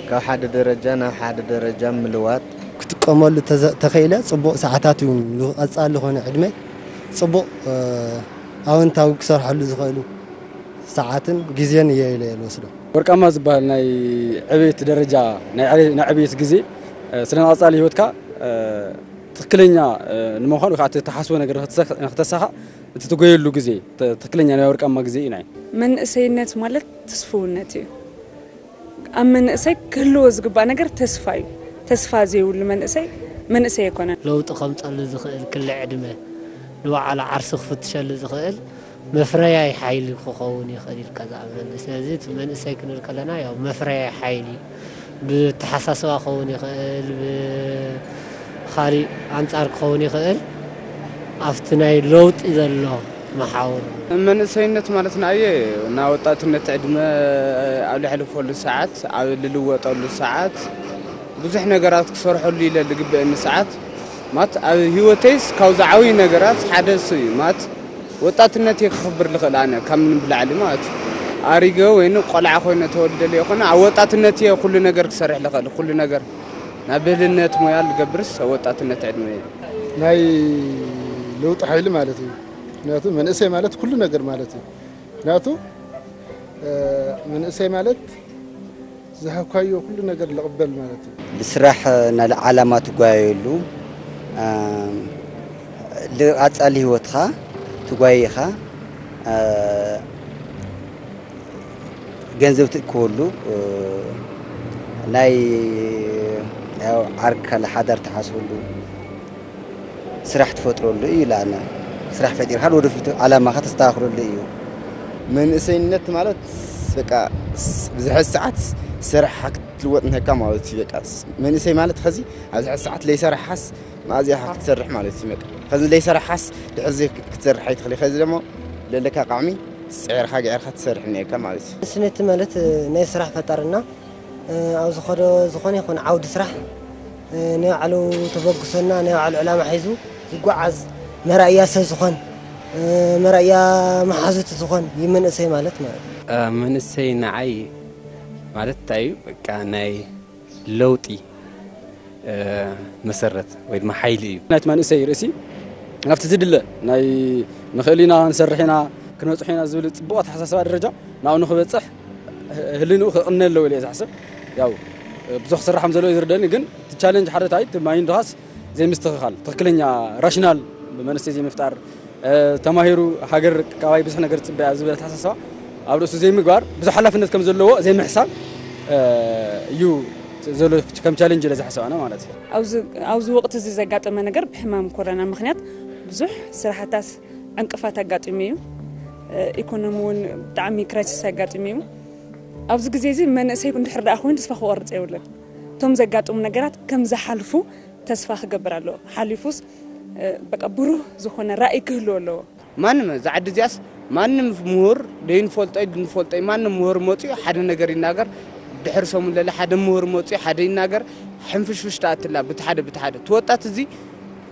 ካብ ሓደ ደረጃ ናብ ሓደ ደረጃ ምልዋጥ። ክጥቀመሉ ተዘ-፣ ተኸኢለ ጽቡቕ ሰዓታት እዩ። ንቐጻሊ ዝኾነ ዕድመ ጽቡቕ፣ እ፣ ኣወንታዊ ክሰርሐሉ ዝኽእሉ ሰዓትን ግዜን እየ ኢለ እየ ዝወስዶ። ወርቃማ ዝበሃል ናይ ዕቤት ደረጃ፣ ናይ ዕቤ-፣ ናይ ዕቤት ግዜ፣ እ፣ ስለ ንቐጻሊ ህይወትካ፣ እ፣ ትኽክለኛ፣ እ፣ ንምዃን ወይ ከዓ እቲ እትሓስቦ ነገር ንኽትሰ-፣ ንኽተሳኻዕ እቲ ትጎየሉ ግዜ፣ ት-፣ ትኽክለኛ ናይ ወርቃማ ግዜ እዩ ናይ። መንእሰይነት ማለት ትስፍውነት እዩ። ኣብ መንእሰይ ክህልዎ ዝግባእ ነገር ተስፋ እዩ። ተስፋ ዘይብሉ መንእሰይ፣ መንእሰይ ኣይኮነን። ለውጢ ከምፀሉ ዝኽእል ክሊ ዕድመ፣ ንባዕሉ ዓርሱ ክፍትሸሉ ዝኽእል መፍረያይ ሓይሊ ክኸውን ይኽእል ኢልካ ዝኣምነሉ። ስለዚ እቲ መንእሰይ ክንብል ከለና ያው መፍረያይ ሓይሊ ብተሓሳስባ ክኸውን ይኽእል፣ ብኻሊእ ኣንጻር ክኸውን ይኽእል። ኣብቲ ናይ ለውጢ ዘሎ መሓውር። መንእሰይነት ማለት ንኣየ ናብ ወጣትነት ዕድመ ኣብ ልሕልፈሉ ሰዓት፣ ኣብ ልልወጠሉ ሰዓት፣ ብዙሕ ነገራት ክሰርሐሉ ኢለ ዝግበአኒ ሰዓት፣ ማት ኣብ ህይወተይስ ካብ ዝዓብዩ ነገራት ሓደ እሱ እዩ። ማት ወጣትነት እየ ክኽብር ልኽእል ኣነ ካብ ምንም ብላዕሊ ማለት እዩ። ኣሪገ ወይን ቆልዓ ኮይነ ተወልደ ለይኮነ ኣብ ወጣትነት እየ ኩሉ ነገር ክሰርሕ ልኽእል፣ ኩሉ ነገር ናብ ብህልነት ሞያ ልገብርስ ኣብ ወጣትነት ዕድመ እየ። ናይ ለውጢ ሓይሊ ማለት እዩ። ምክንያቱ መንእሰይ ማለት ኩሉ ነገር ማለት እዩ። ምክንያቱ፣ እ፣ መንእሰይ ማለት ዝሃብካዮ ኩሉ ነገር ልቕበል ማለት እዩ። ብስራሕ፣ እ፣ ናይ ዓላማ ትጓየየሉ፣ እ፣ ልቐጻሊ ህይወትኻ ትጓየ ኢኻ፣ እ፣ ገንዘብ ትእክበሉ፣ እ፣ ናይ፣ ያው፣ ዓርካ ለሓዳር ትሓስበሉ፣ ስራሕ ትፈጥረሉ እዩ ኢላና። ስራሕ ፈጢርካ ንወደፊት ዓላማኻ ተስተኻኽለሉ እዩ። መንእሰይነት ማለት በቃ ስ-፣ ብዝሐ ሰዓት ስራሕካ ክትልወጥ ንህካ ማለት እዩ። በቃ ስ-፣ መንእሰይ ማለት ኸዚ ኣብ ዝሐ ሰዓት ለይሰራሓስ መኣዝያ ኢኻ ክትሰርሕ ማለት እዩ። በቃ ኸዚ ለይሰራሓስ ድሕር ዘይ ክትሰርሕ ኣይትኽእል። ኸዚ ደሞ ለለካ ቃዕሚ ጸዕርካ ገዕርካ ትሰርሕ እኒአካ ማለት እዩ። መንእሰይነት ማለት ናይ ስራሕ ፈጣርና ኣብ ዝኸዶ ዝኾነ ይኹን ዓውዲ ስራሕ፣ እ፣ ናይ ባዕሉ ተበግሶና ናይ ባዕሉ ዕላማ ሒዙ ዝጓዓዝ መራእያ ሰብ ዝኾን፣ እ፣ መራእያ መሓዙት ዝኾን እዩ መንእሰይ ማለት ማለት እዩ። እ፣ መንእሰይ ንዓይ ማለት እንታይ እዩ? በቃ ናይ ለውጢ፣ እ፣ መሰረት ወይ ድማ ሓይሊ እዩ። ናይቲ መንእሰይ ርእሲ ናብቲ ዝድለ ናይ ንኽእል ኢና፣ ንሰርሕ ኢና፣ ክንበጽሖ ኢና ዝብል ጽቡቕ ኣተሓሳስባ ደረጃ ናብኡ ንኽበጽሕ ህልንኡ ክቕነ ኣለዎ ኢለ እየ ዝሓስብ። ያው ብዙሕ ክስራሕ ከም ዘለዎ እዩ ዝርደኒ፣ ግን እቲ ቻለንጅ ሓደ እንታይ፣ እቲ ማይንድኻስ ዘይምስትኽኻል፣ ትኽክለኛ ራሽናል መንእሰይ ዘይምፍጣር፣ እ፣ ተማሂሩ ሃገር ካባይ ብዙሕ ነገር ትጽበያ ዝብል ኣተሓሳስባ ኣብ ርእሱ ዘይምግባር፣ ብዙሕ ሓላፍነት ከም ዘለዎ ዘይምሕሳብ፣ እ፣ እዩ ዘሎ ከም ቻለንጅ ኢለ ዝሓስብ ኣነ ማለት እዩ። ኣብዚ፣ ኣብዚ ወቕቲ እዚ ዘጋጠመ ነገር ብሕማም ኮረና ምኽንያት ብዙሕ ስራሕታት ዕንቅፋት ኣጋጢሙ እዩ። ኢኮኖሚ እውን ብጣዕሚ ክራይሲስ ኣጋጢሙ እዩ። ኣብዚ ግዜ እዚ መንእሰይ እንድሕር ደኣ ኮይኑ ተስፋ ክቆርጽ የብሉን። እቶም ዘጋጥሙ ነገራት ከም ዝሓልፉ ተስፋ ክገብር ኣለዎ። ሓሊፉስ፣ እ፣ በቃ ብሩህ ዝኾነ ራእይ ክህልዎ ኣለዎ። ማንም እዛ ዓዲ እዚኣስ ማንም ምሁር ደይንፈልጦይ ድንፈልጦይ ማንም ምሁር መፅኡ ሓደ ነገር ይናገር፣ ድሕር ሰሙን ለለ ሓደ ምሁር መፅኡ ሓደ ይናገር። ሕንፍሽፍሽ ትኣትላ ብቲ ሓደ ብቲ ሓደ እቲ ወጣት እዚ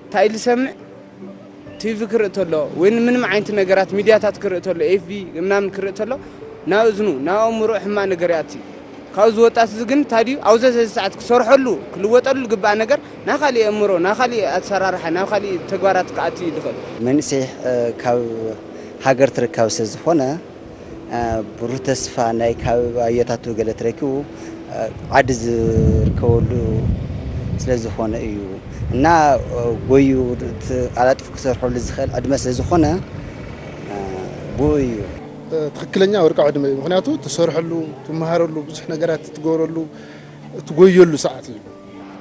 እንታይ ኢሉ ይሰምዕ? ቲቪ ክርኢ ተሎ ወይ ምንም ዓይነት ነገራት ሚድያታት ክርኢ ተሎ፣ ኤፍቢ ምናምን ክርኢ ተሎ ናብ እዝኑ ናብ ኣእምሮ ሕማቕ ነገር ይኣቲ። ካብዚ ወጣት እዚ ግን እንታይ ድዩ ኣብዚ ሰዓት ክሰርሐሉ ክልወጠሉ ዝግባእ ነገር ናብ ካሊእ ኣእምሮ ናብ ካሊእ ኣሰራርሓ ናብ ካሊእ ተግባራት ክኣቲ ይኽእል። መንእሰይ፣ እ፣ ካብ ሃገር ትርካብ ስለ ዝኾነ፣ እ፣ ብሩህ ተስፋ ናይ ካብ ኣየታቱ ገለ ተረኪቡ፣ እ፣ ዓዲ ዝርከበሉ ስለ ዝኾነ እዩ። እና፣ እ፣ ጎዩ ት-፣ ኣላጥፉ ክሰርሐሉ ዝኽእል ዕድመ ስለ ዝኾነ፣ እ፣ ብኡ እዩ። እ፣ ትኽክለኛ ወርቃዊ ዕድመ እዩ። ምኽንያቱ ትሰርሐሉ፣ ትመሃረሉ፣ ብዙሕ ነገራት ትገብረሉ፣ ትጎየሉ ሰዓት እዩ።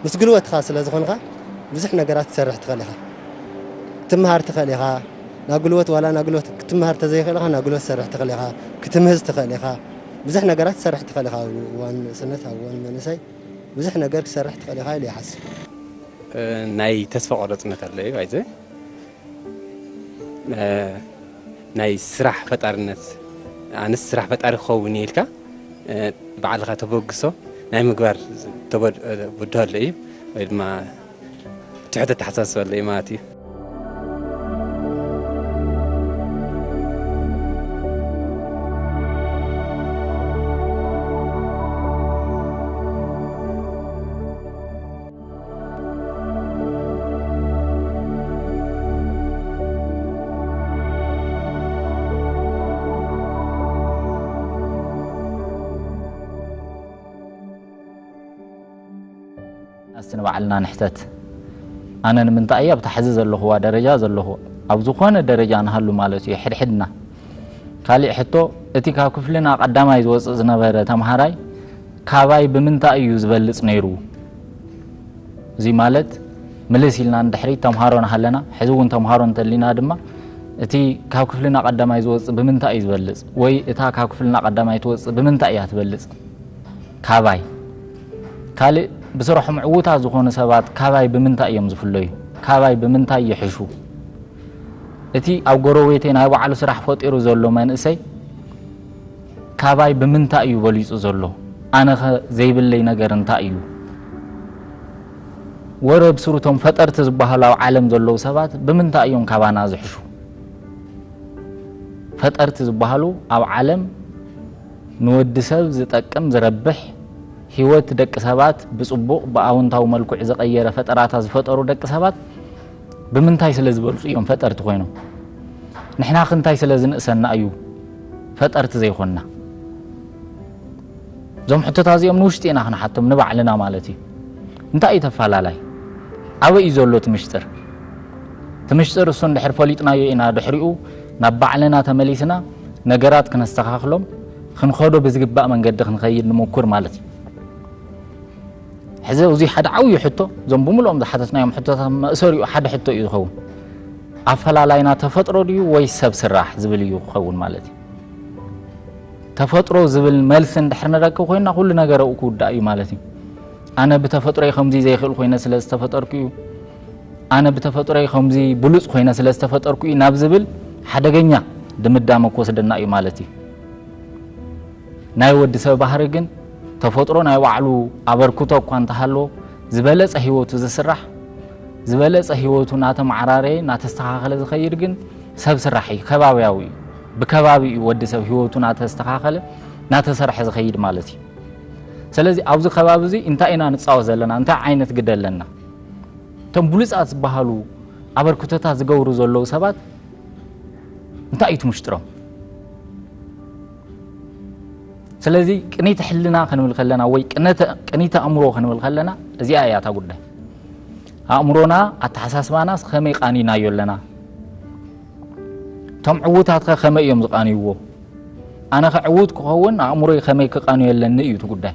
ምስ ጉልበትኻ ስለ ዝኾንካ ብዙሕ ነገራት ትሰርሕ ትኽእል ኢኻ። ክትምሃር ትኽእል ኢኻ። ናብ ጉልበት ዋላ ናብ ጉልበት ክትምሃር ተዘይኽእል ኢኻ፣ ናብ ጉልበት ትሰርሕ ትኽእል ኢኻ። ክትምህዝ ትኽእል ኢኻ። ብዙሕ ነገራት ትሰርሕ ትኽእል ኢኻ። ኣብ እዋን ንእስነት፣ ኣብ እዋን መንእሰይ ብዙሕ ነገር ክትሰርሕ ትኽእል ኢኻ ኢለ ይሓስብ። እ፣ ናይ ተስፋ ቆረጽነት ኣሎ እዩ፣ ኣይዘ። እ፣ ናይ ስራሕ ፈጣርነት፣ ኣነስ ስራሕ ፈጣሪ ክኸውን እየ ኢልካ፣ እ፣ ባዕልኻ ተበግሶ ናይ ምግባር ተበድ-፣ እ፣ ብድሆ ኣሎ እዩ፣ ወይ ድማ ትሑት ኣተሓሳስባ ኣሎ እዩ ማለት እዩ። ንባዕልና ንሕተት። ኣነ ንምንታይ እየ ኣብታ ሕዚ ዘለኹዋ ደረጃ ዘለኹ? ኣብ ዝኾነ ደረጃ ንሃሉ ማለት እዩ፣ ሕድሕድና። ካሊእ ሕቶ፣ እቲ ካብ ክፍልና ቀዳማይ ዝወፅእ ዝነበረ ተምሃራይ ካባይ ብምንታይ እዩ ዝበልፅ ነይሩ? እዚ ማለት፣ ምልስ ኢልና ንድሕሪት፣ ተምሃሮ ንሃለና፣ ሕዚ እውን ተምሃሮ እንተሊና ድማ፣ እቲ ካብ ክፍልና ቀዳማይ ዝወፅእ ብምንታይ እዩ ዝበልፅ? ወይ እታ ካብ ክፍልና ቀዳማይ ትወፅእ ብምንታይ እያ ትበልፅ? ካባይ። ካልእ፣ ብስርሖም ዕዉታት ዝኾኑ ሰባት ካባይ ብምንታይ እዮም ዝፍለዩ? ካባይ ብምንታይ ይሕሹ? እቲ ኣብ ጎረቤተይ ናይ ባዕሉ ስራሕ ፈጢሩ ዘሎ መንእሰይ ካባይ ብምንታይ እዩ በሊጹ ዘሎ? ኣነኸ ዘይብለይ ነገር እንታይ እዩ? ወረ ብስሩ እቶም ፈጠርቲ ዝበሃሉ ኣብ ዓለም ዘለዉ ሰባት ብምንታይ እዮም ካባና ዝሕሹ? ፈጠርቲ ዝበሃሉ ኣብ ዓለም ንወዲ ሰብ ዝጠቅም፣ ዝረብሕ፣ ህይወት ደቂ ሰባት ብጽቡቕ፣ ብኣውንታዊ መልክዕ ዝቐየረ ፈጠራታት ዝፈጠሩ ደቂ ሰባት ብምንታይ ስለ ዝበልጹ እዮም ፈጠርቲ ኮይኖም? ንሕና ክንታይ ስለ ዝንእሰና እዩ ፈጠርቲ ዘይኮንና? እዞም ሕቶታት እዚኦም ንውሽጢ ኢና ክንሓቶም፣ ንባዕልና ማለት እዩ። እንታይ እዩ ተፋላላይ? ኣበይ እዩ ዘሎ እቲ ምሽጥር? እቲ ምሽጥር እሱ እንድሕር ፈሊጥናዮ ኢና ድሕሪኡ ናብ ባዕልና ተመሊስና ነገራት ክነስተኻኽሎም፣ ክንኸዶ ብዝግባእ መንገዲ ክንኸይድ ንሙኩር ማለት እዩ። ሕዚ እዚ ሓደ ዓብዪ ሕቶ፣ እዞም ብምልኦም ዝሓተትናዮም ሕቶታት መእሰሪኡ ሓደ ሕቶ እዩ ዝኸውን። ኣፈላላይና ተፈጥሮ ድዩ ወይ ሰብ ስራሕ ዝብል እዩ ክኸውን ማለት እዩ። ተፈጥሮ ዝብል መልሲ እንድሕር ንረክብ ኮይና፣ ኩሉ ነገር ኣብኡ ክውዳእ እዩ ማለት እዩ። ኣነ ብተፈጥሮይ ከምዚ ዘይኽእል ኮይነ ስለ ዝተፈጠርኩ እዩ፣ ኣነ ብተፈጥሮይ ከምዚ ብሉፅ ኮይነ ስለ ዝተፈጠርኩ እዩ ናብ ዝብል ሓደገኛ ድምዳመ ክወስደና እዩ ማለት እዩ። ናይ ወዲ ሰብ ባህሪ ግን፣ ተፈጥሮ ናይ ባዕሉ ኣበርክቶ እኳ እንተሃለዎ፣ ዝበለጸ ህይወቱ ዝስራሕ፣ ዝበለጸ ህይወቱ እናተመዓራረየ እናተስተኻኸለ ዝኸይድ ግን ሰብ ስራሕ እዩ፣ ከባብያዊ እዩ። ብከባቢ እዩ ወዲ ሰብ ህይወቱ እናተስተኻኸለ እናተሰርሐ ዝኸይድ ማለት እዩ። ስለዚ ኣብዚ ከባቢ እዚ እንታይ ኢና ንጻወት ዘለና? እንታይ ዓይነት ግደ ኣለና? እቶም ብሉጻት ዝበሃሉ ኣበርክቶታት ዝገብሩ ዘለዉ ሰባት እንታይ እዩ እቲ ምሽጥሮም? ስለዚ ቅኒት ሕልና ክንብል ከለና ወይ ቅነተ-፣ ቅኒተ ኣእምሮ ክንብል ከለና እዚኣ እያ እታ ጉዳይ። ኣእምሮና፣ ኣተሓሳስባናስ ከመይ ቃኒናዮ ኣለና? እቶም ዕዉታትከ ከመይ እዮም ዝቃንይዎ? ኣነኸ ዕዉት ክኸውን ኣእምሮይ ከመይ ክቃንዮ ኣለኒ እዩ እቲ ጉዳይ።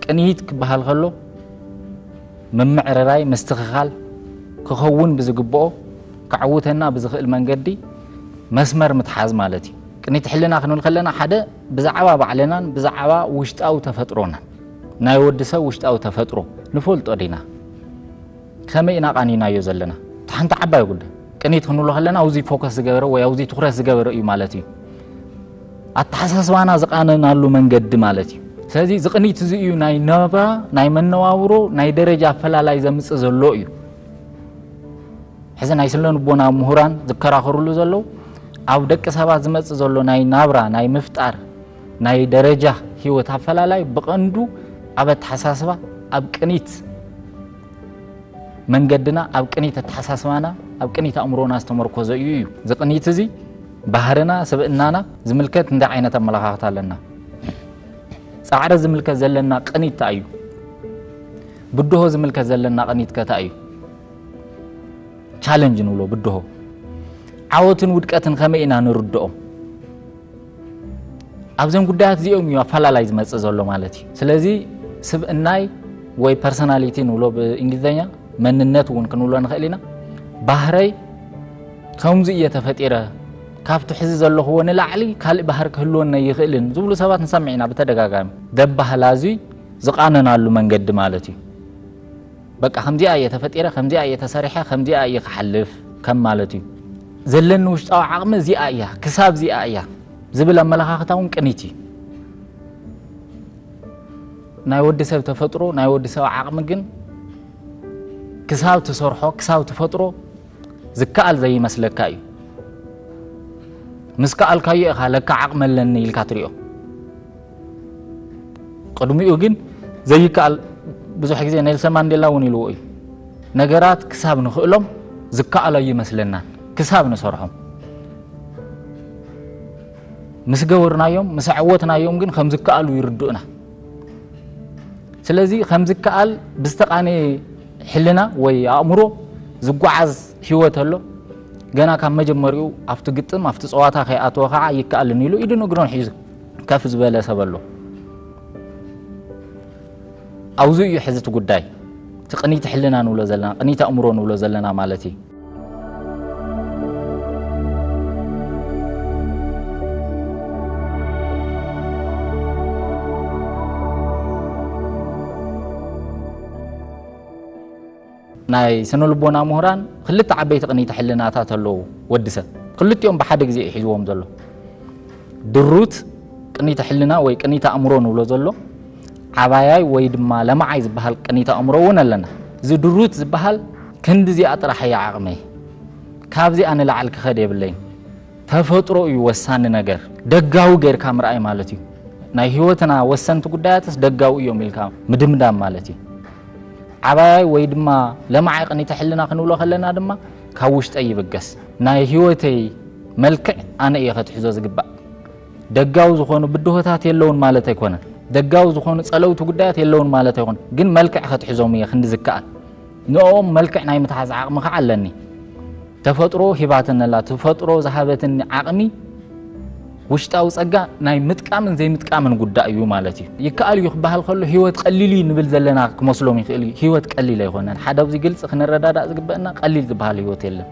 ቅንይት ክበሃል ከሎ፣ ምምዕርራይ፣ ምስትኽኻል፣ ክኸውን ብዝግብኦ፣ ከዕውተና ብዝኽእል መንገዲ መስመር ምትሓዝ ማለት እዩ። ቅንይት ሕልና ክንብል ከለና፣ ሓደ ብዛዕባ ባዕልናን ብዛዕባ ውሽጣዊ ተፈጥሮናን፣ ናይ ወዲ ሰብ ውሽጣዊ ተፈጥሮ ንፈልጦ ዲና? ከመይ ኢና ቃኒናዮ ዘለና? እቲ ሓንቲ ዓባይ ጉዳይ። ቅኒት ክንብሎ ከለና፣ ኣብዚ ፎከስ ዝገበረ ወይ ኣብዚ ትኹረት ዝገበረ እዩ ማለት እዩ። ኣተሓሳስባና ዝቃነናሉ መንገዲ ማለት እዩ። ስለዚ፣ እዚ ቅኒት እዚ እዩ ናይ ናብራ፣ ናይ መነባብሮ፣ ናይ ደረጃ ኣፈላላይ ዘምጽእ ዘሎ እዩ። ሕዚ ናይ ስነ ልቦና ምሁራን ዝከራኸሩሉ ዘለዉ፣ ኣብ ደቂ ሰባት ዝመጽእ ዘሎ ናይ ናብራ፣ ናይ ምፍጣር፣ ናይ ደረጃ ህይወት ኣፈላላይ ብቐንዱ ኣብ ኣተሓሳስባ፣ ኣብ ቅኒት መንገድና፣ ኣብ ቅኒት ኣተሓሳስባና፣ ኣብ ቅኒት ኣእምሮና ዝተመርኮዘ እዩ እዩ። እዚ ቅኒት እዚ ባህርና፣ ስብእናና ዝምልከት እንታይ ዓይነት ኣመለኻኽታ ኣለና? ጻዕሪ ዝምልከት ዘለና ቅኒት እንታይ እዩ? ብድሆ ዝምልከት ዘለና ቅኒት ከ እንታይ እዩ? ቻለንጅ ንብሎ ብድሆ። ዓወትን ውድቀትን ከመይ ኢና ንርድኦም? ኣብዘን ጉዳያት እዚኦም እዩ ኣፈላላይ ዝመጽእ ዘሎ ማለት እዩ። ስለዚ፣ ስብእናይ ወይ ፐርሶናሊቲ ንብሎ ብእንግሊዝኛ፣ መንነት እውን ክንብሎ ንኽእል ኢና። ባህረይ ከምዚ እየ ተፈጢረ፣ ካብቲ ሕዚ ዘለኽዎ ንላዕሊ ካልእ ባህሪ ክህልወኒ ኣይኽእልን ዝብሉ ሰባት ንሰምዕ ኢና ብተደጋጋሚ። ደባህላ እዚ ዝቓነናሉ መንገዲ ማለት እዩ። በቃ ከምዚኣ እየ ተፈጢረ፣ ከምዚኣ እየ ተሰሪሐ፣ ከምዚኣ እየ ክሓልፍ ከም ማለት እዩ። ዘለኒ ውሽጣዊ ዓቕሚ እዚኣ እያ፣ ክሳብ እዚኣ እያ ዝብል ኣመለኻኽታ እውን ቅኒት እዩ። ናይ ወዲ ሰብ ተፈጥሮ፣ ናይ ወዲ ሰብ ዓቕሚ ግን ክሳብ ትሰርሖ፣ ክሳብ ትፈጥሮ ዝከኣል ዘይመስለካ እዩ። ምስ ከኣልካዮ ኢኻ ለካ ዓቕሚ ኣለኒ ኢልካ ትሪኦ። ቅድሚኡ ግን ዘይከኣል፣ ብዙሕ ግዜ ኔልሰን ማንዴላ እውን ኢልዎ እዩ። ነገራት ክሳብ ንኽእሎም ዝከኣሎ ኣይመስለናን፣ ክሳብ ንሰርሖም። ምስ ገበርናዮም፣ ምስ ኣዕወትናዮም ግን ከም ዝከኣሉ ይርድኡና። ስለዚ ከም ዝከኣል ብዝተቓነየ ሕልና ወይ ኣእምሮ ዝጓዓዝ ህይወት ኣሎ። ገና ካብ መጀመሪኡ ኣብቲ ግጥም፣ ኣብቲ ጸዋታ ከይኣተወ ኸዓ ይከኣልን ኢሉ ኢድን እግሩን ሒዙ ከፍ ዝበለ ሰብ ኣሎ። ኣብዚ እዩ ሕዚ እቲ ጉዳይ፣ እቲ ቅኒት ሕልና ንብሎ ዘለና፣ ቅኒት ኣእምሮ ንብሎ ዘለና ማለት እዩ። ናይ ስነ ልቦና ምሁራን ክልተ ዓበይቲ ቅኒተ ሕልናታት ኣለዉ። ወዲ ሰብ ክልቲኦም ብሓደ ግዜ እዩ ሒዝዎም ዘሎ። ድሩት ቅኒተ ሕልና ወይ ቅኒተ ኣእምሮ ንብሎ ዘሎ፣ ዓባያይ ወይ ድማ ለማዓይ ዝበሃል ቅኒተ ኣእምሮ እውን ኣለና። እዚ ድሩት ዝበሃል ክንዲ እዚኣ ጥራሕ እያ ዓቕመይ፣ ካብዚኣ ንላዕሊ ክኸድ የብለይን። ተፈጥሮ እዩ ወሳኒ ነገር። ደጋዊ ጌርካ ምርኣይ ማለት እዩ። ናይ ህይወትና ወሰንቲ ጉዳያትስ ደጋዊ እዮም ኢልካ ምድምዳም ማለት እዩ። ዓባያይ ወይ ድማ ለማዓይ ቅኒተ ሕልና ክንብሎ ከለና ድማ ካብ ውሽጠይ ይብገስ። ናይ ህይወተይ መልክዕ ኣነ እየ ከትሕዞ ዝግባእ። ደጋዊ ዝኾኑ ብድሆታት የለውን ማለት ኣይኮነን። ደጋዊ ዝኾኑ ጸለውቲ ጉዳያት የለውን ማለት ኣይኮነን። ግን መልክዕ ከትሕዞም እየ ክንዲ ዝከኣል። ንኦም መልክዕ ናይ ምትሓዝ ዓቕሚ ከዓ ኣለኒ። ተፈጥሮ ሂባትኒ ኣላ። ተፈጥሮ ዝሃበትኒ ዓቕሚ፣ ውሽጣዊ ጸጋ ናይ ምጥቃምን ዘይምጥቃምን ጉዳይ እዩ ማለት እዩ። ይከኣል እዩ ክበሃል ከሎ ህይወት ቀሊል እዩ ንብል ዘለና ክመስሎም ይኽእል እዩ። ህይወት ቀሊል ኣይኮነን። ሓደ ኣብዚ ግልጺ ክንረዳዳእ ዝግበአና፣ ቀሊል ዝበሃል ህይወት የለን።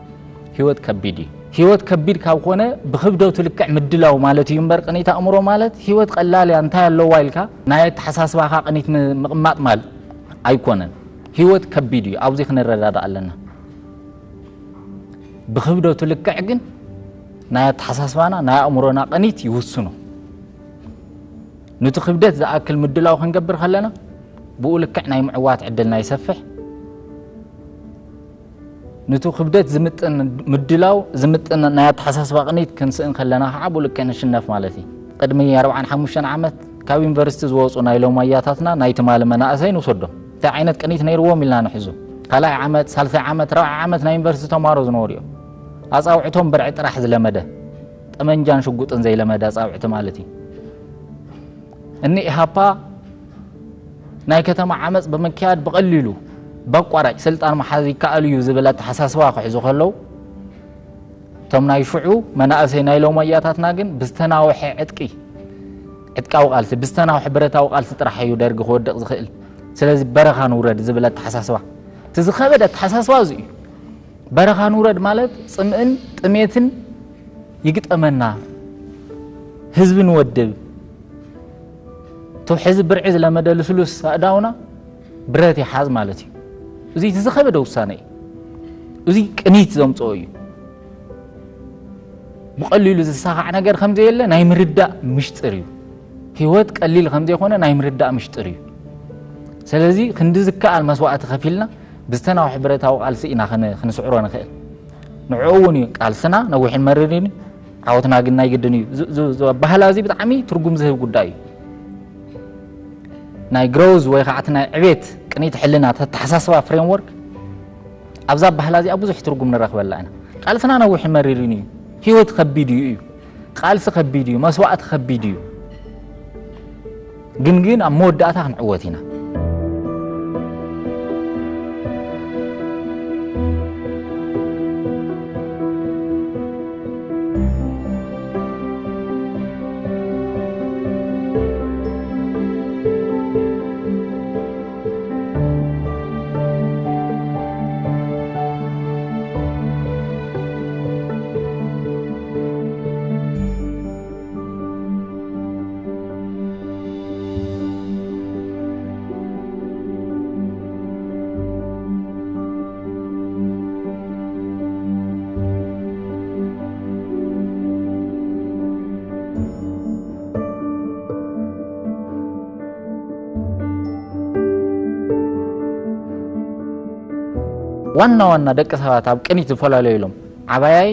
ህይወት ከቢድ እዩ። ህይወት ከቢድ ካብ ኮነ ብክብደቱ ልክዕ ምድላው ማለት እዩ እምበር፣ ቅኒት ኣእምሮ ማለት ህይወት ቀላል እያ እንታይ ኣለዋ ኢልካ ናይ ኣተሓሳስባኻ ቅኒት ም-፣ ምቕማጥ ማለት ኣይኮነን። ህይወት ከቢድ እዩ። ኣብዚ ክንረዳዳእ ኣለና። ብክብደቱ ልክዕ ግን ናይ ኣተሓሳስባና፣ ናይ ኣእምሮና ቅኒት ይውስኖ። ነቲ ክብደት ዝኣክል ምድላው ክንገብር ከለና፣ ብኡ ልክዕ ናይ ምዕዋት ዕድልና ይሰፍሕ። ነቲ ክብደት ዝምጥን ምድላው፣ ዝምጥን ናይ ኣተሓሳስባ ቅኒት ክንስእን ከለና ከዓ፣ ብኡ ልክዕ ንሽነፍ ማለት እዩ። ቅድሚ ኣርብዓን ሓሙሽተን ዓመት ካብ ዩኒቨርሲቲ ዝወፁ ናይ ሎማያታትና ናይ ትማሊ መናእሰይ ንውሰዶም። እንታይ ዓይነት ቅኒት ነይርዎም ኢልና ንሕዞ። ካልኣይ ዓመት፣ ሳልሳይ ዓመት፣ ራብዓይ ዓመት ናይ ዩኒቨርሲቲ ተምሃሮ ዝነበሩ እዮም። ኣጻውዕቶም ብርዒ ጥራሕ ዝለመደ፣ ጠመንጃን ሽጉጥን ዘይለመደ ኣጻውዕቲ ማለት እዩ። እኒ ኢሃፓ ናይ ከተማ ዓመፅ ብምክያድ ብቐሊሉ፣ በቋራጭ ስልጣን ምሓዝ ይከኣል እዩ ዝብል ኣተሓሳስባ ክሕዙ ከለዉ፣ እቶም ናይ ሽዑ መናእሰይ ናይ ሎማያታትና ግን ብዝተናውሐ ዕጥቂ፣ ዕጥቃዊ ቃልሲ፣ ብዝተናውሐ ብረታዊ ቃልሲ ጥራሕ እዩ ደርጊ ክወድቕ ዝኽእል። ስለዚ በረኻ ንውረድ ዝብል ኣተሓሳስባ፣ እቲ ዝኸበደ ኣተሓሳስባ እዚ እዩ። በረኻ ንውረድ ማለት ጽምእን ጥሜትን ይግጠመና፣ ህዝቢ ንወድብ፣ እቶ ሕዚ ብርዒ ዝለመደ ልስሉስ ኣእዳውና ብረት ይሓዝ ማለት እዩ። እዚ እቲ ዝኸበደ ውሳነ እዩ። እዚ ቅኒት ዘምጽኦ እዩ። ብቐሊሉ ዝሰኻዕ ነገር ከም ዘየለ ናይ ምርዳእ ምሽጥር እዩ። ህይወት ቀሊል ከም ዘይኮነ ናይ ምርዳእ ምሽጥር እዩ። ስለዚ ክንዲ ዝከኣል መስዋእቲ ከፊልና ብዝተናውሐ ብረታዊ ቃልሲ ኢና ክን-፣ ክንስዕሮ ንኽእል። ንዕኡ እውን እዩ ቃልስና ነዊሕን መሪርን እዩ። ዓወትና ግን ናይ ግድን እዩ። ዝ-፣ ዝ-፣ ዝ-፣ ኣበሃህላ እዚ ብጣዕሚ ትርጉም ዝህብ ጉዳይ እዩ። ናይ ግሮዝ ወይ ከዓ እቲ ናይ ዕቤት ቅኒት ሕልና ተተሓሳስባ ፍሬምወርክ ኣብዛ ኣበሃህላ እዚኣ ብዙሕ ትርጉም ንረኽበላ ኢና። ቃልስና ነዊሕን መሪርን እዩ። ህይወት ከቢድ እዩ እዩ። ቃልሲ ከቢድ እዩ። መስዋእቲ ከቢድ እዩ። ግን ግን ኣብ መወዳእታ ክንዕወት ኢና። ዋና ዋና ደቂ ሰባት ኣብ ቅኒት ዝፈላለዩሎም ዓባያይ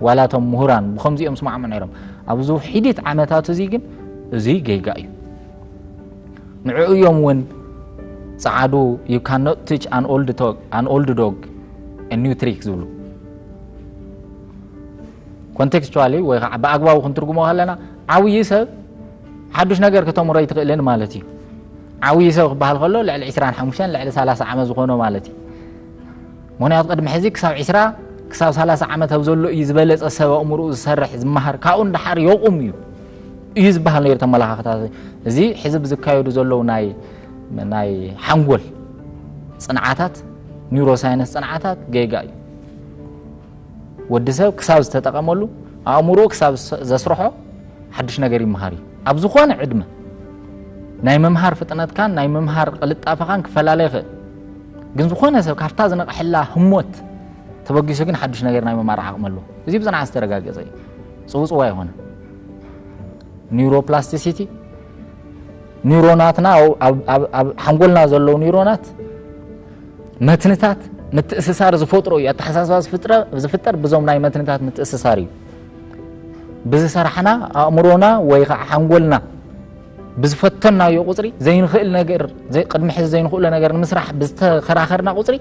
ዋላ እቶም ምሁራን ብኸምዚኦም ስማዕሙ ነይሮም። ኣብዚ ውሒዲት ዓመታት እዚ ግን እዚ ጌጋ እዩ። ንዕኡ እዮም እውን ጸዓዱ you cannot teach an old dog, an old dog a new trick ዝብሉ። ኮንቴክስቹዋሊ ወይ ከዓ ብኣግባቡ ክንትርጉሞ ከለና ዓብዪ ሰብ ሓዱሽ ነገር ከተምሮ ኣይትኽእልን ማለት እዩ። ዓብዪ ሰብ ክበሃል ከሎ ልዕሊ ዕስራን ሓሙሽተን ልዕሊ ሰላሳ ዓመት ዝኾኖ ማለት እዩ። ምክንያቱ ቅድሚ ሕዚ ክሳብ ዕስራ ክሳብ ሰላሳ ዓመት ኣብ ዘሎ እዩ ዝበለጸ ሰብ ኣእምርኡ ዝሰርሕ ዝመሃር ካብኡ ንደሓር የቑም እዩ እዩ ዝበሃል ነይሩ ተመላኻኽታት። እዚ ሕዚ ብዝካየዱ ዘለዉ ናይ ናይ ሓንጎል ጽንዓታት ኒውሮሳይንስ ጽንዓታት ጌጋ እዩ። ወዲ ሰብ ክሳብ ዝተጠቐመሉ ኣእምሮ ክሳብ ዘስርሖ ሓድሽ ነገር ይመሃር እዩ። ኣብ ዝኾነ ዕድመ ናይ ምምሃር ፍጥነትካን ናይ ምምሃር ቅልጣፈኻን ክፈላለ ይኽእል። ግን ዝኾነ ሰብ ካብታ ዝነቕሐላ ህሞት ተበጊሱ ግን ሓድሽ ነገር ናይ ምምሃር ዓቕሚ ኣለዎ። እዚ ብፅንዓት ዝተረጋገፀ እዩ። ፅውፅዋ ይኾነ ኒውሮፕላስቲሲቲ ኒውሮናትና ኣብ ሓንጎልና ዘለዉ ኒውሮናት መትንታት ምትእስሳር ዝፈጥሮ እዩ። ኣተሓሳስባ ዝፍጥረ- ዝፍጠር ብዞም ናይ መትንታት ምትእስሳር እዩ። ብዝሰራሕና ኣእምሮና ወይ ከዓ ሓንጎልና ብዝፈተናዮ ቁፅሪ ዘይንኽእል ነገር ዘይ- ቅድሚ ሕዚ ዘይንኽእሎ ነገር ንምስራሕ ብዝተኸራኸርና ቁፅሪ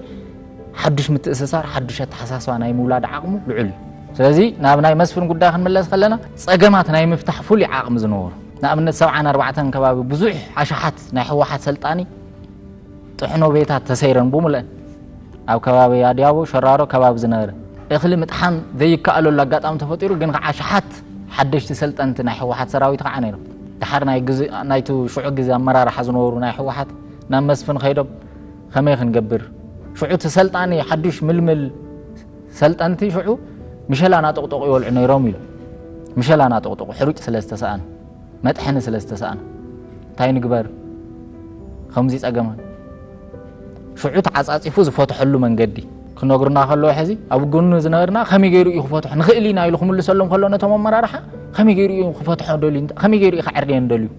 ሓዱሽ ምትእስሳር ሓዱሽ ኣተሓሳስባ ናይ ምውላድ ዓቕሙ ልዑል እዩ። ስለዚ ናብ ናይ መስፍን ጉዳይ ክንምለስ ከለና ፀገማት ናይ ምፍታሕ ፍሉይ ዓቕሚ ዝነበሩ ንኣብነት ሰብዓን ኣርባዕተን ከባቢ ብዙሕ ኣሽሓት ናይ ህወሓት ሰልጣኒ ጥሕኖ ቤታት ተሰይረን ብሙልአን ኣብ ከባቢ ኣድያቦ ሸራሮ ከባቢ ዝነበረ እኽሊ ምጥሓን ዘይከኣለሉ ኣጋጣሚ ተፈጢሩ ግን ከዓ ኣሽሓት ሓደሽቲ ሰልጠንቲ ናይ ህወሓት ሰራዊት ከዓ ነይሮም። ድሓር ናይ ግዜ ናይቲ ሽዑ ግዜ ኣመራርሓ ዝነበሩ ናይ ህወሓት ናብ መስፍን ከይዶም ከመይ ክንገብር ሽዑ እቲ ሰልጣኒ ሓዱሽ ምልምል ሰልጠንቲ ሽዑ ምሸላ ናጠቕጠቑ ይበልዑ ነይሮም ኢሉ ምሸላ ናጠቕጠቑ ሕሩጭ ስለ ዝተሰኣነ መጥሐኒ ስለ ዝተሰኣነ እንታይ ንግበር ከምዚ ጸገማን ሽዑ ተዓጻጺፉ ዝፈትሐሉ መንገዲ ክነግሩና ከለዉ ሕዚ ኣብ ጎኑ ዝነበርና ከመይ ገይሩ እዩ ክፈትሖ ንኽእል ኢና ኢሉ ክምልሰሎም ከሎ ነቶም ኣመራርሓ ከመይ ገይሩ እዩ ክፈትሖ ደልዩ ከመይ ገይሩ እዩ ክዕርየን ደልዩ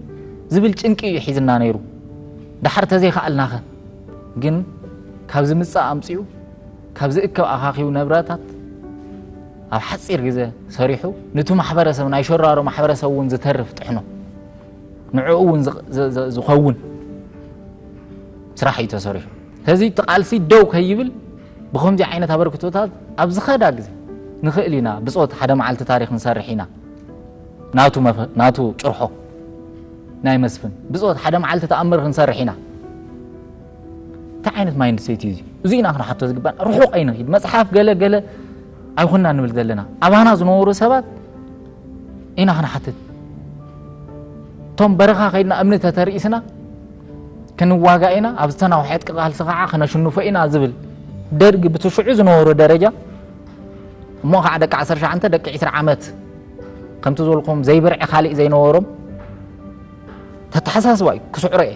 ዝብል ጭንቂ እዩ ሒዝና ነይሩ። ዳሓር ተዘይከኣልናኸ ግን ካብ ዝምጻእ ኣምጺኡ ካብ ዝእከብ ኣኻኺቡ ንብረታት ኣብ ሓጺር ግዜ ሰሪሑ ንቲ ማሕበረሰብ ናይ ሸራሮ ማሕበረሰብ እውን ዝተርፍ ጥሕኖ ንዕኡ እውን ዝኸውን ስራሕ እዩ ተሰሪሑ። ስለዚ እቲ ቃልሲ ደው ከይብል ብኸምዚ ዓይነት ኣበርክቶታት ኣብ ዝኸዳ ግዜ ንኽእል ኢና ብፆት ሓደ መዓልቲ ታሪክ ንሰርሕ ኢና ናቱ ጭርሖ ናይ መስፍን ብፆት ሓደ መዓልቲ ተኣምር ክንሰርሕ ኢና። እንታይ ዓይነት ማይንድሴት እዩ እዚ? እዚ ኢና ክንሓቶ ዝግባና። ርሑቕ ኣይንኺድ። መፅሓፍ ገለ ገለ ኣይኮንና ንብል ዘለና። ኣባና ዝነበሩ ሰባት ኢና ክንሓትት። እቶም በረኻ ከይድና እምኒ ተተርኢስና ክንዋጋእ ኢና፣ ኣብ ዝተናውሐ ዕጥቂ ቃልሲ ከዓ ክነሽንፎ ኢና ዝብል ደርጊ ብቲ ሽዑ ዝነበሮ ደረጃ እሞ ከዓ ደቂ ዓሰርተ ሸውዓተ ደቂ ዕስራ ዓመት ከምቲ ዝበልኩም ዘይብርዒ ካሊእ ዘይነበሮም ተተሓሳስባ እዩ ክስዕሮ እየ።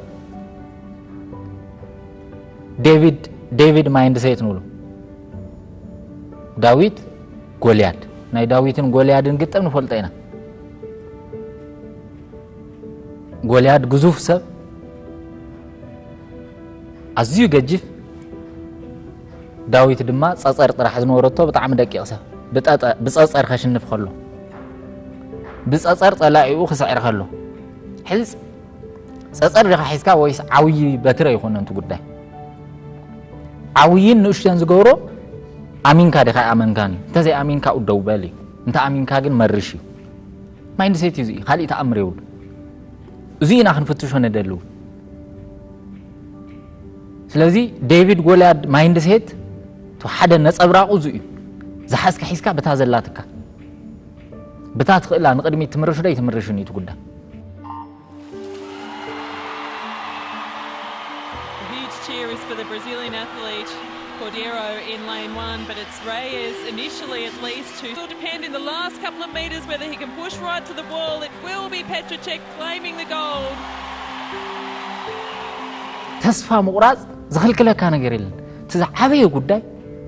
ዴቪድ ዴቪድ ማይንድሴት ንብሎ ዳዊት ጎልያድ ናይ ዳዊትን ጎልያድን ግጥም ንፈልጦ ኢና። ጎልያድ ግዙፍ ሰብ ኣዝዩ ገጅፍ ዳዊት ድማ ጸጸር ጥራሕ ዝነበረቶ ብጣዕሚ ደቂቕ ሰብ ብጸጸር ከሽንፍ ከሎ ብጸጸር ጸላኢኡ ክስዕር ከሎ ሕዚ ጸጸር ዲኻ ሒዝካ ወይስ ዓብዪ በትሪ ኣይኮነን እቲ ጉዳይ። ዓብይን ንእሽቶን ዝገብሮ ኣሚንካ ዲኻ ኣይኣመንካን እዩ። እንተዘይኣሚንካ ደው በል እዩ። እንተ ኣሚንካ ግን መርሽ እዩ። ማይንድሴት እዩ። እዚ ካልእ ተኣምር የብሉ። እዚ ኢና ክንፍትሾ ንደልው። ስለዚ ዴቪድ ጎልያድ ማይንድሴት እቲ ሓደ ነጸብራቑ እዚ እዩ። ዝሓዝካ ሒዝካ ብታ ዘላትካ ብታ ትኽእላ ንቕድሚት ትምርሽ ዶ ኣይትምርሽን እዩ እቲ ጉዳይ። A huge cheer is for the Brazilian athlete Cordeiro in lane one, but it's Reyes initially at least who will depend in the last couple of metres whether he can push right to the wall. It will be Petrocek claiming the gold. ተስፋ ምቑራጽ ዝኽልክለካ ነገር የለን። እቲ ዝዓበየ ጉዳይ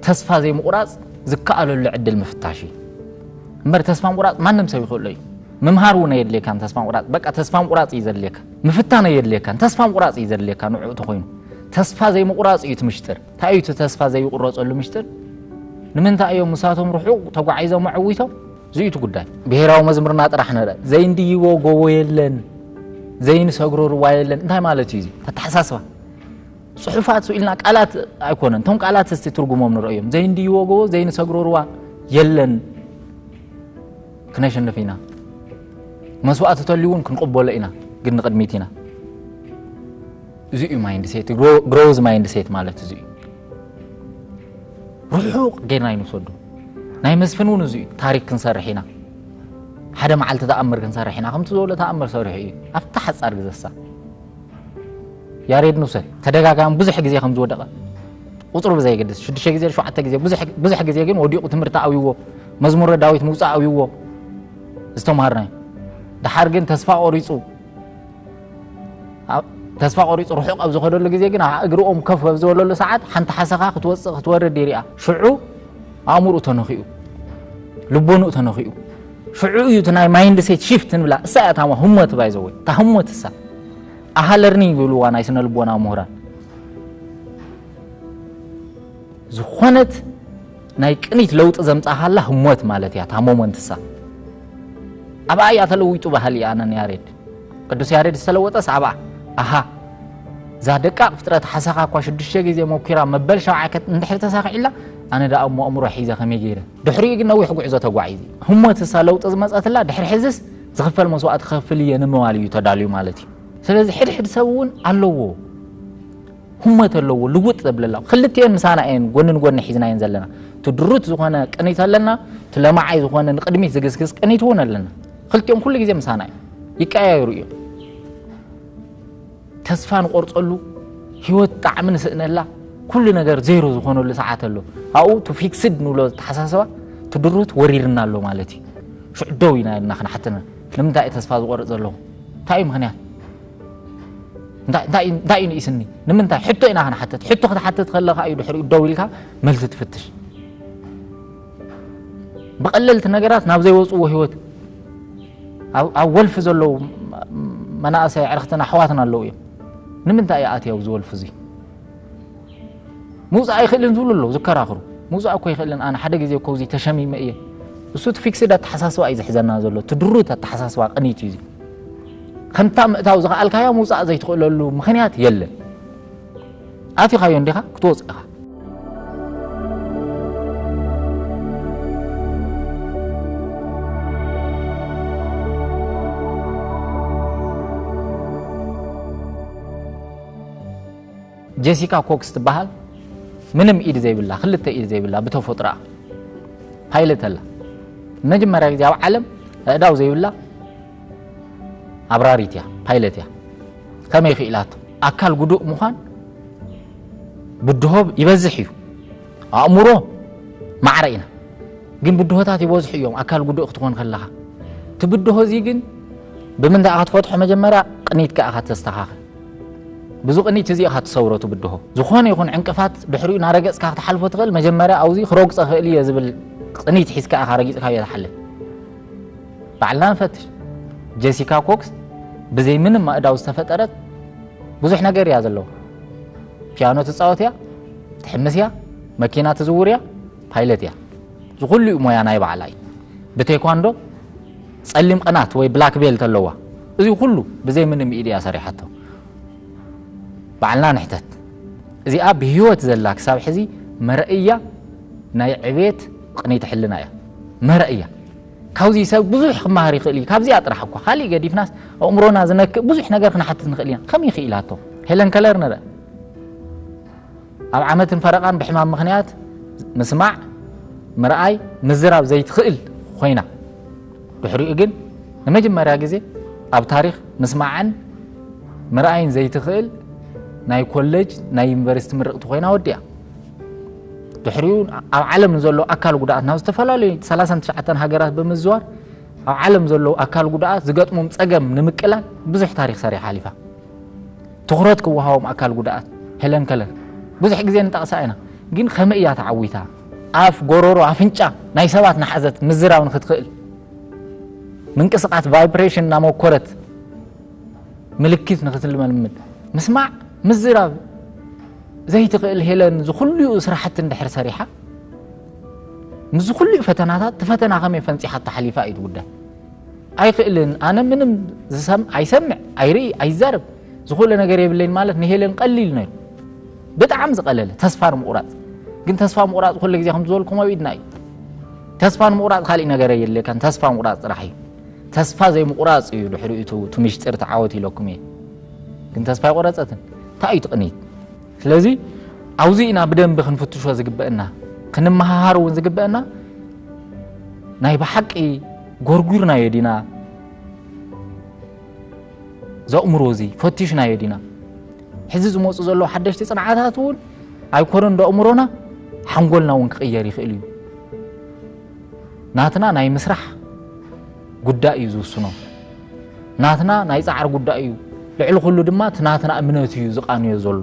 ተስፋ ዘይምቑራጽ ዝከኣለሉ ዕድል ምፍታሽ እዩ። እምበር ተስፋ ምቑራጽ ማንም ሰብ ይኽእሎ እዩ። ምምሃር እውን ኣየድልየካን ተስፋ ምቑራጽ በቃ ተስፋ ምቑራጽ እዩ ዘድልየካ። ምፍታን ኣየድልየካን ተስፋ ምቑራጽ እዩ ዘድልየካ ንዕኡ ተኾይኑ። ተስፋ ዘይምቑራጽ እዩ እቲ ምሽጥር። እንታይ እዩ እቲ ተስፋ ዘይቁረጸሉ ምሽጥር? ንምንታይ እዮም ምሳቶም ርሑቕ ተጓዒዞም ኣዕዊቶም እዚዩ እቲ ጉዳይ። ብሄራዊ መዝሙርና ጥራሕ ንርአ። ዘይንድይቦ ጎቦ የለን፣ ዘይንሰግሮ ሩባ የለን። እንታይ ማለት እዩ እዚ? ተተሓሳስባ። ጽሑፋት ስኢልና ቃላት ኣይኮነን። እቶም ቃላት እስቲ ትርጉሞም ንርእዮም። ዘይንድይቦ ጎቦ፣ ዘይንሰግሮ ሩባ የለን። ክነሸንፍ ኢና። መስዋእቲ ተልዩ እውን ክንቕበሎ ኢና። ግን ንቕድሚት ኢና። እዚ እዩ ማይንድሴት፣ ግሮዝ ማይንድሴት ማለት እዚ እዩ። ርሑቕ ጌርና ይንውሰዱ። ናይ መስፍን እውን እዚ እዩ። ታሪክ ክንሰርሕ ኢና። ሓደ መዓልቲ ተኣምር ክንሰርሕ ኢና። ከምቲ ዝበሎ ተኣምር ሰሪሑ እዩ። ኣብታ ሓጻር ግዘሳ። ያሬድ ንውሰድ። ተደጋጋሚ ብዙሕ ግዜ ከም ዝወደቐ። ቁጽሩ ብዘየገድስ፣ ሽዱሽተ ግዜ፣ ሸውዓተ ግዜ፣ ብዙሕ፣ ብዙሕ ግዜ ግን ወዲቑ ትምህርቲ ኣብይዎ፣ መዝሙረ ዳዊት ምውጻእ ኣብይዎ፣ ዝተምሃርናዮ። ደሓር ግን ተስፋ ቆሪጹ፣ ኣብ-፣ ተስፋ ቆሪጹ ርሑቕ ኣብ ዝኸደሉ ግዜ ግን ኣብ እግሪ ኦም ከፍ ኣብ ዝበለሉ ሰዓት ሓንቲ ሓሰኻ ክትወጽእ ክትወርድ ይሪኣ። ሽዑ ኣእምሮኡ ተነኺኡ፣ ልቦንኡ ተነኺኡ። ሽዑ እዩ እቲ ናይ ማይንድ ሴት ሺፍት ንብላ። እሳ እያ ታማ ህሞት ባይ ዘወይ። እታ ህሞት እሳ። ኣሃ ለርኒንግ ይብልዋ ናይ ስነ ልቦና ምሁራን። ዝኾነት ናይ ቅኒት ለውጢ ዘምጻኻላ ህሞት ማለት እያ፣ እታ ሞመንት እሳ። ኣብኣ እያ ተለዊጡ ባህሊ ኣነ ንያሬድ። ቅዱስ ያሬድ ዝተለወጠስ ኣብኣ። ኣሃ፣ እዛ ደቃቕ ፍጥረት ሓሳኻ እኳ ሽዱሽተ ግዜ ሞኪራ መበል ሸውዓይ ከት-፣ እንድሕር ተሳኺዕላ፣ ኣነ ደኣ እሞ ኣእምሮ ሒዘ ከመይ ገይረ? ድሕሪኡ ግን ነዊሕ ጉዕዞ ተጓዒዙ። ህሞት እሳ ለውጢ ዝመጸትላ፣ ድሕሪ ሕዝስ ዝኽፈል መስዋእቲ ክኸፍል እየ ንምባል እዩ ተዳልዩ ማለት እዩ። ስለዚ ሕድሕድ ሰብ እውን ኣለዎ። ህሞት ኣለዎ፣ ልውጥ ዘብለላ። ክልቲኤን ምሳና እየን፣ ጎኒ ንጎኒ ሒዝናየን ዘለና። እቲ ድሩት ዝኾነ ቅኒት ኣለና፣ እቲ ለማዓይ ዝኾነ ንቕድሚት ዝግስግስ ቅኒት እውን ኣለና። ክልቲኦም ኩሉ ግዜ ምሳና እዮም። ይቀያየሩ እዮም። ተስፋ ንቆርጸሉ፣ ህይወት ጣዕሚ ንስእነላ፣ ኩሉ ነገር ዜሮ ዝኾነሉ ሰዓት ኣሎ። ኣብኡ እቲ ፊክስድ ንብሎ ኣተሓሳስባ፣ እቲ ድሩት ወሪርና ኣሎ ማለት እዩ። ሽዑ ደው ኢና ኢልና ክንሓትና። ንምንታይ እዩ ተስፋ ዝቆርጽ ዘለኹ? እንታይ እዩ ምኽንያት? እንታይ፣ እንታይ፣ እንታይ እዩ ንኢስኒ? ንምንታይ? ሕቶ ኢና ክንሓተት። ሕቶ ክትሓተት ከለኻ እዩ ድሕሪኡ ደው ኢልካ መልሲ ትፍትሽ። ብቐለልቲ ነገራት ናብ ዘይወጽዎ ህይወት ኣብ፣ ኣብ ወልፊ ዘለዉ መናእሰይ ኣዕርኽትና ኣሕዋትና ኣለዉ እዮም። ንምንታይ እዩ ኣትዩ ኣብዚ ወልፊ እዚ? ምውጻእ ኣይኽእልን ዝብሉ ኣለዉ፣ ዝከራኽሩ። ምውጻእ እኮ ይኽእልን፣ ኣነ ሓደ ግዜ እኮ እዚ ተሸሚመ እየ። እሱ እቲ ፊክስድ ኣተሓሳስባ እዩ ዝሕዘና ዘሎ፣ እቲ ድሩት ኣተሓሳስባ ቅኒት እዩ እዚ። ከምታ ምእታው ዝኸኣልካዮ ምውጻእ ዘይትኽእለሉ ምኽንያት የለን። ኣቲኻዮ እንዲኻ ክትወጽእ ኢኻ። ጀሲካ ኮክስ ትበሃል። ምንም ኢድ ዘይብላ፣ ክልተ ኢድ ዘይብላ ብተፈጥሮኣ ፓይለት ኣላ። መጀመርያ ግዜ ኣብ ዓለም ኣእዳው ዘይብላ ኣብራሪት እያ፣ ፓይለት እያ። ከመይ ክኢላቶ? ኣካል ጉዱእ ምዃን ብድሆ ይበዝሕ እዩ። ኣእምሮ ማዕረ ኢና፣ ግን ብድሆታት ይበዝሑ እዮም። ኣካል ጉዱእ ክትኾን ከለኻ፣ እቲ ብድሆ እዚ ግን ብምንታይ ኢኻ ትፈትሖ? መጀመርያ ቅኒትካ ኢኻ ተስተኻኽል። ብዙ ቅኒት እዚ ኢኻ ትሰብሮ፣ እቲ ብድሆ። ዝኾነ ይኹን ዕንቅፋት ድሕሪኡ እናረገጽካ ክትሓልፎ ትኽእል። መጀመርያ ኣብዚ ክረግጾ ክእል እየ ዝብል ቅኒት ሒዝካ ኢኻ ረጊጽካዮ ትሓልፍ። ባዕልና ንፈትሽ። ጀሲካ ኮክስ ብዘይ ምንም ኣእዳው ዝተፈጠረት ብዙሕ ነገር እያ ዘለዋ። ፒያኖ ትጻወት እያ፣ ትሕምስ እያ፣ መኪና ትዝውር እያ፣ ፓይለት እያ። እዚ ኩሉ እዩ ሞያ ናይ ባዕላ እዩ። ብቴኳንዶ ጸሊም ቅናት ወይ ብላክ ቤልት ኣለዋ። እዚ ኩሉ ብዘይ ምንም ኢድ እያ ሰሪሓቶ። ባዕልና ንሕተት። እዚኣ ብህይወት ዘላ ክሳብ ሕዚ መረእያ ናይ ዕቤት ቅኒት ሕልና እያ። መረእያ። ካብዚ ሰብ ብዙሕ ክመሃር ይኽእል እዩ። ካብዚኣ ጥራሕ እኳ። ካሊእ ገዲፍናስ ኣእምሮና ዝነክእ ብዙሕ ነገር ክንሓትት ንኽእል ኢና። ከመይ ክኢላቶ? ሄለን ከለር ንርአ። ኣብ ዓመትን ፈረቓን ብሕማም ምኽንያት ምስማዕ፣ ምርኣይ፣ ምዝራብ ዘይትኽእል ኮይና። ድሕሪኡ ግን ንመጀመርያ ግዜ ኣብ ታሪኽ ምስማዕን ምርኣይን ዘይትኽእል ናይ ኮሌጅ፣ ናይ ዩኒቨርሲቲ ምርቕቲ ኮይና ወዲኣ። ድሕሪኡ ኣብ ዓለም ንዘሎ ኣካል ጉድኣት ናብ ዝተፈላለዩ ሰላሳን ትሽዓተን ሃገራት ብምዝዋር ኣብ ዓለም ዘለዉ ኣካል ጉድኣት ዝገጥሞም ጸገም ንምቅላል ብዙሕ ታሪኽ ሰሪሓ ሓሊፋ። ትኹረት ክወሃቦም ኣካል ጉድኣት ሄለን ከለር ብዙሕ ግዜ ንጠቕሳ ኢና፣ ግን ከመይ እያ ተዓዊታ? ኣፍ፣ ጎረሮ፣ ኣፍንጫ ናይ ሰባት ንሓዘት ምዝራብ ንክትኽእል ምንቅስቓስ ቫይብሬሽን እናመኮረት ምልክት ንክትልመልምድ ምስማዕ ምዝራብ ዘይትኽእል ሄለን ዝኹሉኡ ስራሕቲ እንድሕር ሰሪሓ ምስዚ ኩሉ ፈተናታት እቲ ፈተና ከመይ ፈንፂሓ ተሓሊፋ እዩ እቲ ጉዳይ። ኣይክእልን፣ ኣነ ምንም ዝሰም ኣይሰምዕ ኣይርኢ ኣይዛረብ፣ ዝኹለ ነገር የብለይን ማለት ንሄለን ቀሊል ነይሩ። ብጣዕሚ ዝቐለለ ተስፋ ንምቑራፅ። ግን ተስፋ ምቑራፅ ኩሉ ግዜ ከም ዝበልኩም ኣብ ኢድና እዩ። ተስፋ ንምቑራፅ ካሊእ ነገር የድልየካን፣ ተስፋ ምቑራፅ ጥራሕ እዩ። ተስፋ ዘይምቑራፅ እዩ ድሕሪኡ እቲ እቲ ምሽጥር ተዓወት ኢለኩም እየ። ግን ተስፋ ኣይቆረፀትን። እንታይ እዩ ትቕኒት? ስለዚ ኣብዚ ኢና ብደንቢ ክንፍትሾ ዝግበአና፣ ክንመሃሃር እውን ዝግበአና። ናይ ብሓቂ ጎርጉርናዮ ዲና? ዘእምሮ እዚ ፈቲሽናዮ ዲና? ሕዚ ዝመፁ ዘለዉ ሓደሽቲ ፅንዓታት እውን ኣይኮነን ዶ ኣእምሮና፣ ሓንጎልና እውን ክቕየር ይኽእል እዩ። ናትና ናይ ምስራሕ ጉዳይ እዩ ዝውስኖ። ናትና ናይ ፃዕሪ ጉዳይ እዩ። ልዕሊ ኩሉ ድማ እቲ ናትና እምነት እዩ ዝቃንዮ ዘሎ።